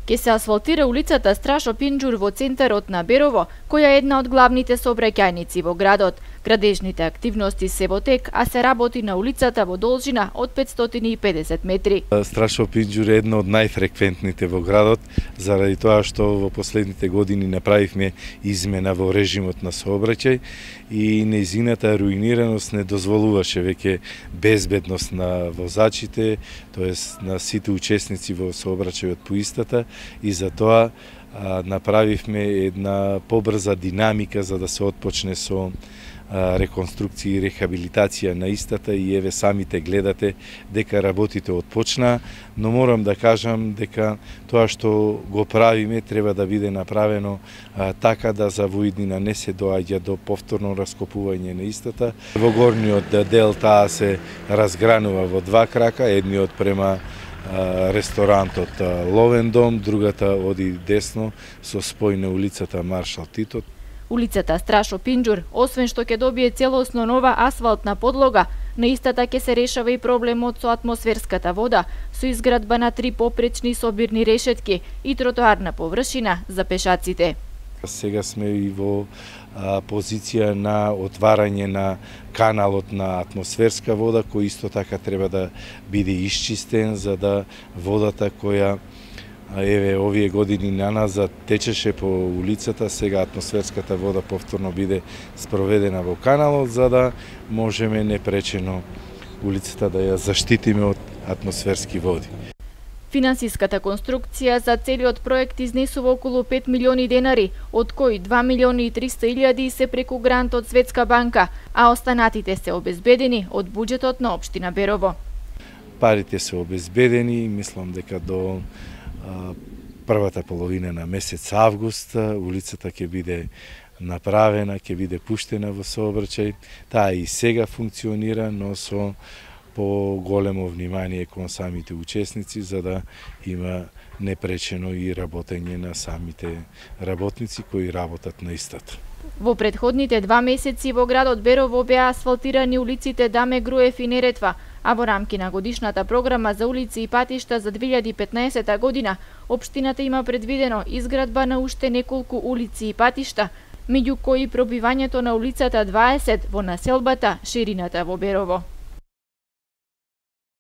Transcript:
Ке се асфалтира улицата Страшо Пинџур во центарот на Берово, која е една од главните сообраќајници во градот. Градежните активности се во тек, а се работи на улицата во должина од 550 метри. Страшо Пинџур е една од најфреквентните во градот, заради тоа што во последните години направивме измена во режимот на сообраќај и нејзината руинираност не дозволуваше веќе безбедност на возачите, тоест на сите учесници во сообраќајот по истата, и за тоа направивме една побрза динамика за да се отпочне со реконструкција и рехабилитација на истата, и еве самите гледате дека работите отпочнаа, но морам да кажам дека тоа што го правиме треба да биде направено така да за воиднина не се доаѓа до повторно раскопување на истата. Во горниот дел таа се разгранува во два крака, едниот према ресторантот Ловен дом, другата оди десно со спој на улицата Маршал Тито. Улицата Страшо Пинџур, освен што ќе добие целосно нова асфалтна подлога, на истата ќе се решава и проблемот со атмосферската вода, со изградба на 3 попречни собирни решетки и тротоарна површина за пешаците. Сега сме и во позиција на отварање на каналот на атмосферска вода, кој исто така треба да биде исчистен, за да водата која еве овие години наназад течеше по улицата, сега атмосферската вода повторно биде спроведена во каналот, за да можеме непречено улицата да ја заштитиме од атмосферски води. Финансиската конструкција за целиот проект изнесува околу 5 милиони денари, од кои 2 милиони и 300 илјади се преку грант од Светска банка, а останатите се обезбедени од буџетот на општина Берово. Парите се обезбедени, мислам дека до првата половина на месец август улицата ќе биде направена, ќе биде пуштена во сообраќај. Таа и сега функционира, но со по-големо внимание кон самите учесници, за да има непречено и работење на самите работници кои работат на истата. Во претходните 2 месеци во градот Берово беа асфалтирани улиците Даме Груев и Неретва, а во рамки на годишната програма за улици и патишта за 2015 година, општината има предвидено изградба на уште неколку улици и патишта, меѓу кои пробивањето на улицата 20 во населбата Ширината во Берово.